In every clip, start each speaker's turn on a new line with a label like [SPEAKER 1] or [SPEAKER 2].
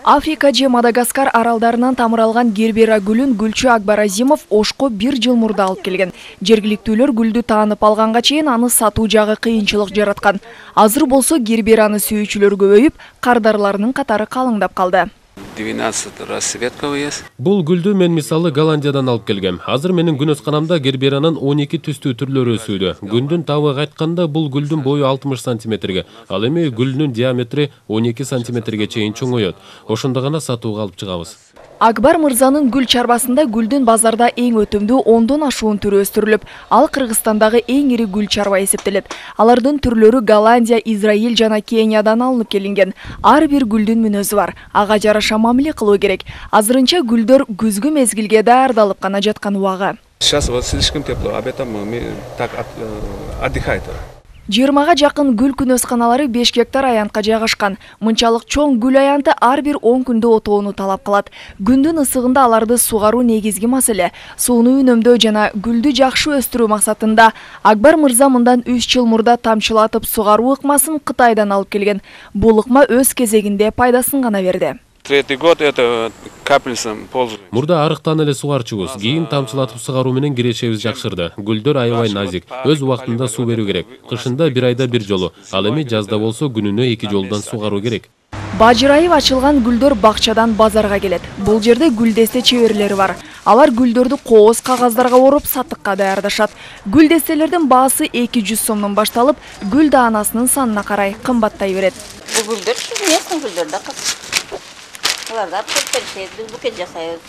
[SPEAKER 1] Африка же Мадагаскар аралдарынан тамыралган гербера гүлүн гүлчү Акбар Азимов Ошко 1 жыл мурда алып келген. Жергиликтүүлөр гүлдү таанып алганга чейин аны сатуу жагы кыйынчылык жараткан. Азыр болсо гербераны сүйүүчүлөр көбөйүп, кардарларынын катары калыңдап калды.
[SPEAKER 2] 12 расцветков есть.
[SPEAKER 3] Бул гүлдү мен мисалы Голландиядан алып келгем. Азыр менин күнөсканамда герберанын 12 түстүү түрлөрү өсүүдө. Күндүн табы айтканда бул гүлдүн бою 60 сантиметрге, ал эми гүлүнүн диаметри 12 сантиметрге чейин чоңоёт. Ошондо гана сатууга алып чыгабыз.
[SPEAKER 1] Акбар мырзанын гүл чарбасында гүлдүн базарда эң өтүмдүү 10дон ашуун түрү өстүрүлүп, ал Кыргызстандагы эң ири гүл чарба эсептелет. Алардын түрлөрү Голландия, Израиль жана Кениядан алынып келинген. Ар бир гүлдүн мүнөзү бар. Ага жараша мамиле кылуу керек. Азырынча гүлдөр күзгү мезгилге даярдалып гана жаткан убагы.
[SPEAKER 2] Сейчас вот слишком тепло, об этом мы так отдыхает.
[SPEAKER 1] 20га жакын гүл күнөсканалары 5 гектар аянтка жайгашкан. Мынчалык чоң гүл аянты ар бир 10 күндө отоону талап кылат. Күндүн ысыгында аларды сугаруу негизги маселе. Сууну үнөмдөө жана гүлдү жакшы өстүрүү максатында Акбар мырза мындан 3 жыл мурда тамчылатып сугаруу ыкмасын Кытайдан алып келген. Бул ыкма өз кезегинде пайдасын гана берди.
[SPEAKER 2] Третий год это капельницам пользуемся.
[SPEAKER 3] Мурда арыктан эле сугарчубуз. Кийин тамчылатып сугаруу менен кирешебиз жакшырды. Гүлдөр аябай назик, өз убактында суу берүү керек. Кышында 1 айда 1 жолу, ал эми жазда болсо күнүнө 2 жолдон сугаруу керек.
[SPEAKER 1] Бажырайып ачылган гүлдөр бакчадан базарга келет. Бул жерде гүлдесте чеберлери бар. Алар гүлдөрдү кооз кагаздарга ороп сатыкка даярдашат. Гүлдестелердин баасы 200 сомдон башталып, гүл даанасынын санына карай кымбаттай берет.
[SPEAKER 4] Бул гүлдөр местный гүлдөр да. Аларда букет жасайбыз.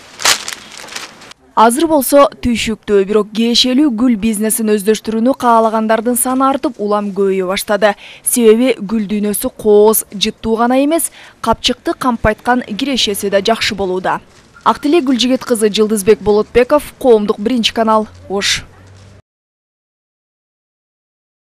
[SPEAKER 1] Азыр болсо түйшүктүү, бирок кирешелүү гүл бизнесин өздөштүрүүнү каалагандардын саны артып, улам көбөйө баштады. Себеби гүл дүйнөсү кооз, жыттуу гана эмес, капчыкты кампайткан кирешеси да жакшы болууда. Актилек Гүлжигит кызы Жылдызбек Болотбеков, Коомдук 1 канал, Ош.